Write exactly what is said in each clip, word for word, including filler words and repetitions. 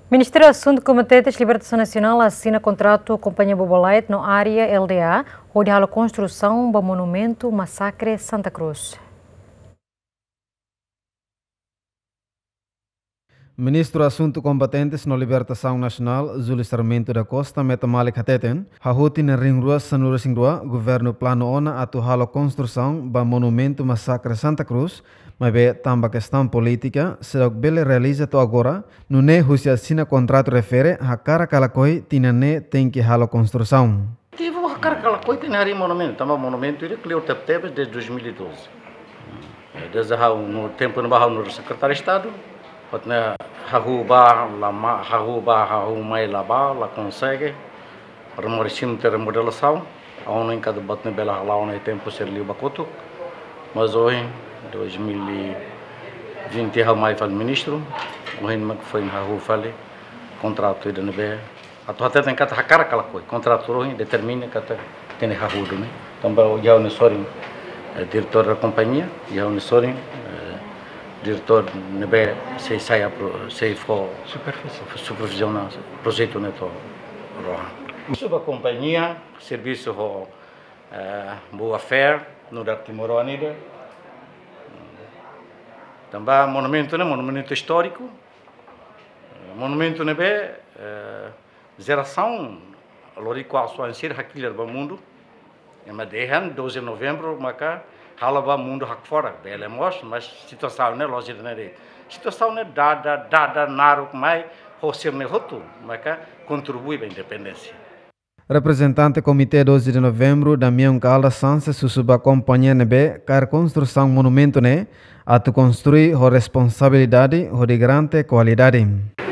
Ministériu Asuntu Kombatentes Libertasaun Nasionál asina kontratu ho kompañia Bobolite no Área L D A, hodi halo konstrusaun ba monumentu masakre Santa Cruz. Ministru Asuntu Kombatentes no Libertasaun Nasionál, Júlio Sarmento da Costa, metan malik hateten, hahú tinan rihun rua sanulu-resin-rua, governu planu ona atu halo konstrusaun ba monumentu masakre Santa Cruz, maibé tanba kestaun polítika, seidauk bele realiza to'o agora, nune'e husi asina kontratu refere, hakarak ka lakohi tinan ne'e tenke halo konstrusaun. Tivo hakarak ka lakohi tenke harii monumentu, tanba monumentu ida kleur tebetebes desde dois mil e doze. Eh, desde ha'u no tempu ne'ebá ha'u nu'udar Sekretáriu Estadu, buat ne'e hahú bá la mai, hahú bá, hahú mai la bá, la konsege. Remodelasaun, remodelasaun, ha'u hanoin katak buat ne'e bele hala'o ona iha tempu sira liubá kotuk. Mas ohin, dois mil e vinte, ha'u mai fali ministru, ohin mak foin hahú fali kontratu ida ne'ebé atu hateten katak hakarak ka lakohi, kontratu ohin determina katak tenke hahú duni. Tanba ohin ha'u-nia sorin, eh, diretór da kompañia, ohin ha'u-nia sorin, eh, diretór ne'ebé sei sai apro-, sei fó superviziona projetu ne'e to'o rohan. Servisu ba kompañia, servisu ho, eh, boa fé, nu'udar timoroan ida. Tanba monumentu ne'e monumentu istóriku. Monumentu ne'ebé, eh, jerasaun lori kuasu ansir hakilar ba mundu. Ema dehan doze de novembru maka halo ba mundu hakfodak, bele mós, mas situasaun ne'e la'ós ida-ne'e de'it. Situasaun ne'e dada, dada naruk mai, ho sira-ne'e hotu, maka kontribui ba independénsia. Reprezentante Komité doze de Novembru, Damião Caldas Sanches, husu ba kompañia ne'ebé kaer konstrusaun monumentu ne'e, atu konstrui ho responsabilidade, hodi garante kualidade.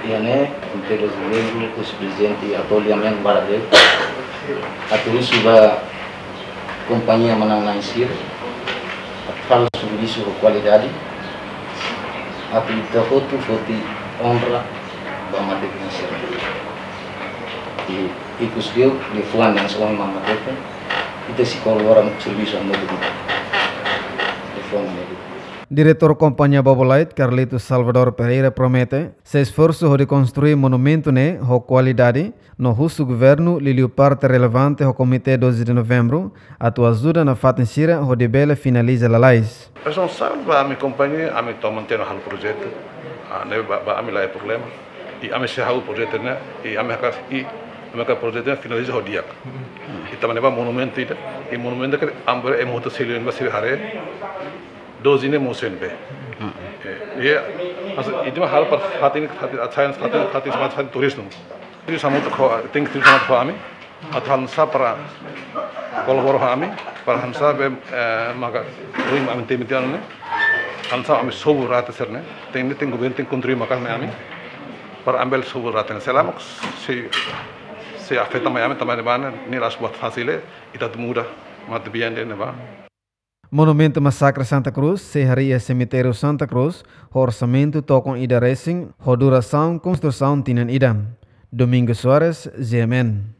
Iha ne'e, Komité doze de Novembru, husi prezidente atu liamen barak de'it, atu husu ba kompañia manán-na'in sira, atu halo servisu ho kualidade, atu ita hotu foti onra ba matebian sira. I ikus liu, liafuan ne'e soe mama tete, ita sei kolabora servisu hamutuk ho ita. Liafuan ne'e. Diretór kompañia Bobolite, Carlito Salvador Pereira, promete sei esforsu hodi konstrui monumentu ne'e ho kualidade, no husu governu, liuliu parte relevante ho Komité doze de Novembru, atu ajuda nafatin sira hodi bele finaliza lalais. Responsavel ba ami kompañia, ami toman tiha ona halo projetu. Ah, ne'e ba, ba ami la iha problema. I ami sei hahú projetu ne'e, i ami hakarak, i ami hakarak projetu ne'e finaliza ho di'ak. I tanba ne'e ba monumentu ida, i monumentu ke ambre e moto selio ba sira haree, doze ne'e mosen be. Eh, i, mas, i cuma hal para fatin, fatin, fatin, fatin, fatin, fatin turizmu. Servisu hamutuk ho, tenke servisu hamutuk ho ami. Atu hanesan para kolabora ho ami, para hanesan be, eh, maka ruim ami temi tiha ona ne'e. Hanesan ami sobu rate sira-ne'e. Tenke, tenke governu tenke kontribui maka'as mai ami. Para ami bele sobu rate ne'e. Selama sei, sei afeta mai ami tanba ne'e ba ne'e, ne'e la'ós buat fasil, eh, ita atu muda matebian ida-ne'e ba. Monumentu Masakre Santa Cruz sei harii iha Semitériu Santa Cruz, ho orsamentu tokon ida resin, ho durasaun konstrusaun tinan ida. Domingos Soares, G M N.